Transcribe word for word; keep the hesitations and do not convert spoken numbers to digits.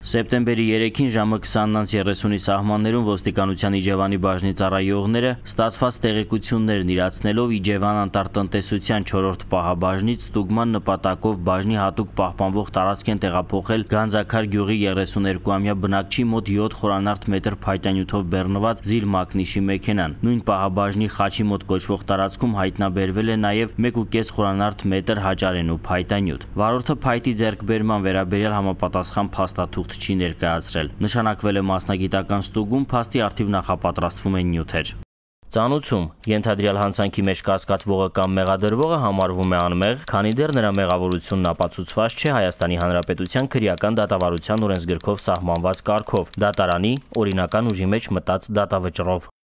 Սեպտեմբերի երեքին ժամը քսանից երեսունի սահմաններում ոստիկանության Իջևանի բաժնի ծառայողները ստացված տեղեկություններն իրացնելով Իջևան անտառտնտեսության չորրորդ պահաբաժնից ստուգման նպատակով բաժնի հատուկ պահպանվող տարածք են տեղափոխել Գանձաքար գյուղի երեսուներկուամյա բնակչի մոտ յոթ խորանարդ մետր փայտանյութով բեռնված Զիլ Մակնիշի մեքենան։ Նույն պահաբաժնի խաչի մոտ կոչվող տարածքում հայտնաբերվել է նաև մեկ ու կես խորանարդ մետր հաճարենու փայտանյութ։ Վարորդը փայտի ձեռքբերման վերաբերյալ համապատասխան փաստաթուղթ չի ներկայացրել։ Նշանակվել է մասնագիտական ստուգում, փաստի առթիվ նախապատրաստվում են նյութեր։ Ծանուցում ենթադրյալ հանցանքի մեջ կասկածվողը կամ մեղադրվողը համարվում է անմեղ, քանի դեռ նրա մեղավորությունն ապացուցված չէ Հայաստանի Հանրապետության քրեական դատավարության օրենսգրքով սահմանված կարգով՝ դատարանի օրինական ուժի մեջ մտած դատավճռով։